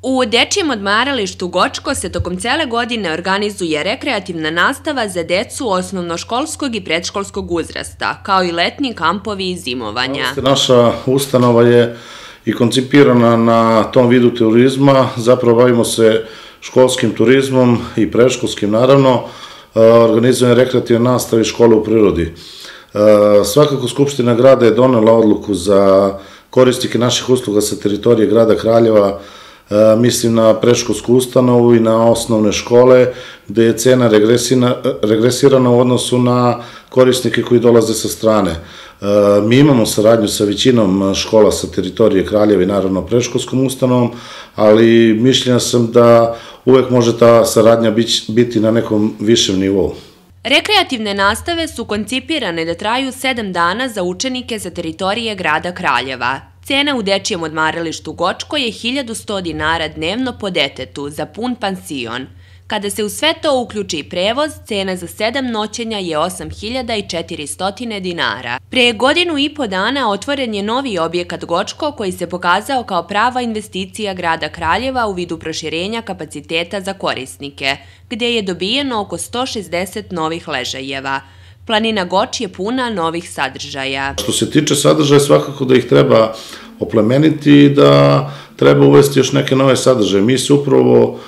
U Dečijem odmaralištu Gočko se tokom cele godine organizuje rekreativna nastava za decu osnovnoškolskog i predškolskog uzrasta, kao i letnji kampovi i zimovanja. Naša ustanova je i koncipirana na tom vidu turizma, zapravo bavimo se školskim turizmom i predškolskim, naravno, organizujemo rekreativne nastave i škole u prirodi. Svakako Skupština grada je donela odluku za korisnike naših usluga sa teritorije grada Kraljeva, mislim na predškolsku ustanovu i na osnovne škole, gde je cena regresirana u odnosu na korisnike koji dolaze sa strane. Mi imamo saradnju sa većinom škola sa teritorije Kraljeva i naravno predškolskom ustanovom, ali mišljenja sam da uvek može ta saradnja biti na nekom višem nivou. Rekreativne nastave su koncipirane da traju 7 dana za učenike sa teritorije grada Kraljeva. Cena u Dečijem odmaralištu Gočko je 1100 dinara dnevno po detetu za pun pansion. Kada se u sve to uključi prevoz, cena za 7 noćenja je 8400 dinara. Pre godinu i po dana otvoren je novi objekat Gočko koji se pokazao kao prava investicija grada Kraljeva u vidu proširenja kapaciteta za korisnike, gde je dobijeno oko 160 novih ležajeva. Planina Goč je puna novih sadržaja. Što se tiče sadržaja, svakako da ih treba oplemeniti i da treba uvesti još neke nove sadržaje. Mi se upravo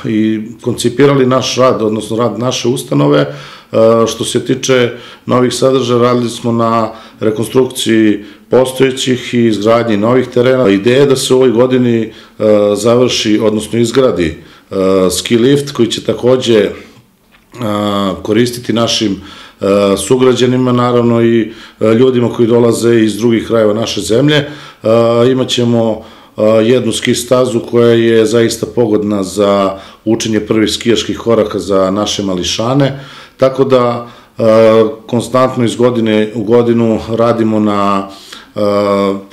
i koncipirali naš rad, odnosno rad naše ustanove. Što se tiče novih sadržaja, radili smo na rekonstrukciji postojećih i izgradnji novih terena. Ideja je da se u ovoj godini završi, odnosno izgradi ski lift koji će takođe koristiti našim sugrađanima, naravno i ljudima koji dolaze iz drugih krajeva naše zemlje. Imaćemo jednu ski stazu koja je zaista pogodna za učenje prvih skijaških koraka za naše mališane, tako da konstantno iz godine u godinu radimo na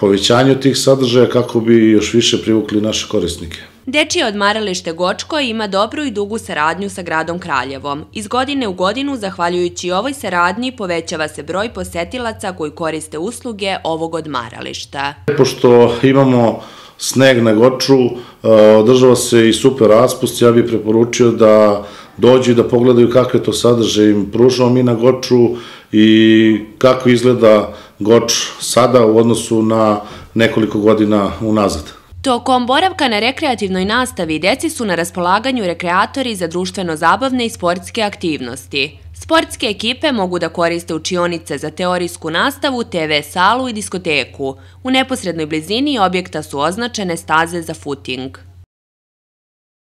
povećanju tih sadržaja kako bi još više privukli naše korisnike. Dečije odmaralište Gočko ima dobru i dugu saradnju sa gradom Kraljevom. Iz godine u godinu, zahvaljujući ovoj saradnji, povećava se broj posetilaca koji koriste usluge ovog odmarališta. Pošto imamo sneg na Goču, održava se i super raspust, ja bih preporučio da dođu i da pogledaju kakve to sadržaje im pružamo mi na Goču i kako izgleda Goč sada u odnosu na nekoliko godina unazad. Tokom boravka na rekreativnoj nastavi deci su na raspolaganju rekreatori za društveno-zabavne i sportske aktivnosti. Sportske ekipe mogu da koriste učionice za teorijsku nastavu, TV salu i diskoteku. U neposrednoj blizini objekta su označene staze za footing.